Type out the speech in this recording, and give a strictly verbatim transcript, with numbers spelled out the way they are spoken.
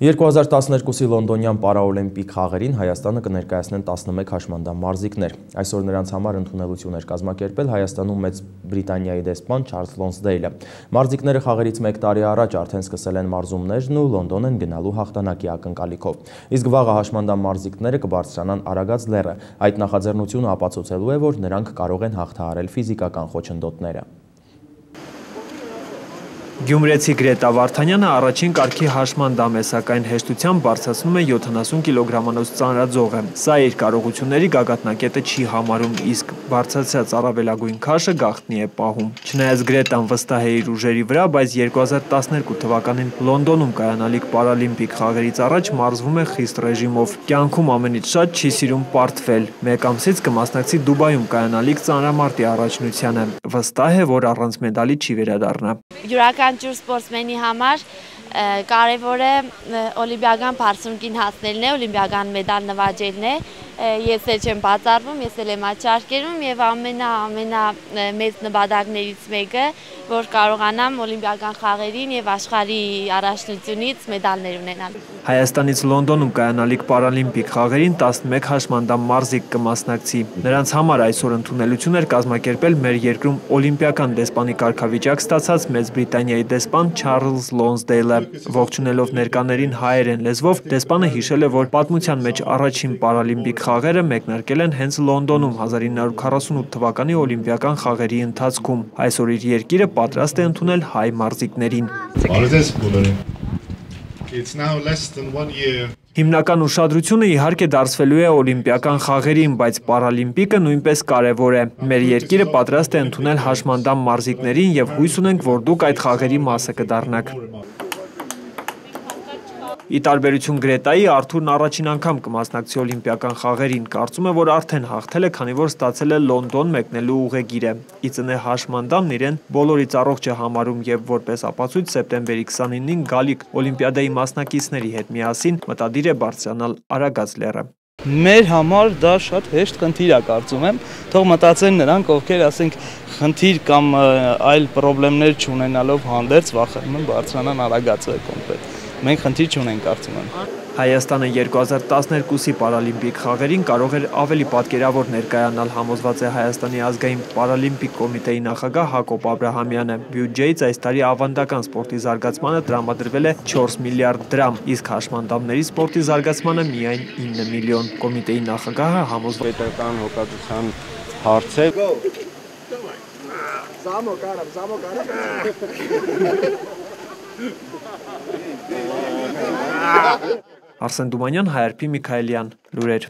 երկու հազար տասներկուսի լոնդոնյան պարաօլիմպիկ խաղերին Հայաստանը կներկայացնեն տասնմեկ հաշմանդամ մարզիկներ։ Այսօր նրանց համար ընդունելություն էր կազմակերպել Հայաստանում Մեծ Բրիտանիայի դեսպան Չարլզ Լոնսդեյլը։ Մարզիկները խաղերից մեկ տարի առաջ արդեն սկսել են մարզումներն ու Լոնդոն են գնալու հաղթանակի ակնկալիքով։ Իսկ վաղը հաշմանդամ մարզիկները կբարձրանան Արագած լեռը։ Այդ նախաձեռնությունը ապացուցելու է, որ նրանք կարող են հաղթահարել ֆիզիկական խոչընդոտները։ Գյումրեցի Գրետա Վարդանյանը առաջին կարգի հաշմանդամ է, սակայն հեշտությամբ բարձրացնում է յոթանասուն կիլոգրամանոց ծանրաձողը։ Սա իր կարողությունների գագաթնակետը չի համարում, իսկ բարձրացած առավելագույն քաշը գաղտնի է պահում։ Չնայած Գրետան վստահ է իր ուժերի վրա, բայց երկու հազար տասներկու թվականին Լոնդոնում կայանալիք պարալիմպիկ խաղերից առաջ մարզվում է խիստ ռեժիմով։ Կյանքում ամենից շատ չի սիրում պարտվել։ Մեկ ամսից կմասնակցի Դուբայում կայանալիք ծանրամարտի առաջնությանը։ Վստահ է, որ առանց մեդալի չի վերադառնա։ Յուրաքանչյուր սպորտսմենի համար կարևոր է օլիմպիական բարձունքին հասնելն է, օլիմպիական մեդալ նվաճելն է։ Ես էլ չեմ բացառվում, ես էլ եմ աչարկերում եւ ամենա ամենա մեծ նպատակներից մեկը, որ կարողանամ օլիմպիական խաղերին եւ աշխարհի առաջնությունից մեդալներ ունենալ։ Հայաստանից Լոնդոնում կայանալիք պարալիմպիկ խաղերին տասնմեկ հաշմանդամ մարզիկ կմասնակցի։ Նրանց համար այսօր ընդունելություն էր կազմակերպել մեր երկրում օլիմպիական դեսպանի կարգավիճակ ստացած Մեծ Բրիտանիայի դեսպան Չարլզ Լոնսդեյլը։ Ողջունելով ներկաներին հայերեն լեզվով, դեսպանը հիշել է, որ պատմության մեջ առաջին պարալիմպիկ խաղերը մեկնարկել են հենց Լոնդոնում հազար ինը հարյուր քառասունութ թվականի օլիմպիական խաղերի ընթացքում։ Այսօր իր երկիրը պատրաստ է ընդունել հայ մարզիկներին։ Հիմնական ուշադրությունը իհարկե դարձվելու է օլիմպիական խաղերին, բայց պարալիմպիկը նույնպես կարևոր է։ Մեր երկիրը պատրաստ է ընդունել հաշմանդամ մարզիկներին եւ հույս ունենք, որ դուք այդ խաղերի մասը կդառնաք։ Ի տարբերություն Գրետայի, Արթուրն առաջին անգամ կմասնակցի օլիմպիական խաղերին, կարծում է, որ արդեն հաղթել է, քանի որ ստացել է Լոնդոն մեկնելու ուղեգիրը։ Ի ծնե հաշմանդամն իրեն բոլորից առողջ է համարում եւ որպես ապացույց սեպտեմբերի քսանինին գալիք օլիմպիադայի մասնակիցների հետ միասին մտադիր է բարձրանալ Արագած լեռը։ Մեր համար դա շատ հեշտ խնդիր է, կարծում եմ, թող մտածեն նրանք, ովքեր ասենք խնդիր կամ այլ խնդիրներ չունենալով հանդերձ վախենում են բարձրանան Արագածը կոմպլետ։ Մենք խնդիր չունենք, կարծում եմ։ Հայաստանը երկու հազար տասներկուսի պարալիմպիկ խաղերին կարող էր ավելի պատկերավոր ներկայանալ, համոզված է Հայաստանի ազգային պարալիմպիկ կոմիտեի նախագահ Հակոբ Աբրահամյանը։ Բյուջեից այս տարի ավանդական սպորտի զարգացմանը տրամադրվել է չորս միլիարդ դրամ, իսկ հաշմանդամների սպորտի զարգացմանը միայն ինը միլիոն։ Կոմիտեի նախագահը համոզված է հոգատության հարց է։ Արսեն Դումանյան, Հայ Արփի Միքայելյան, լուրեր։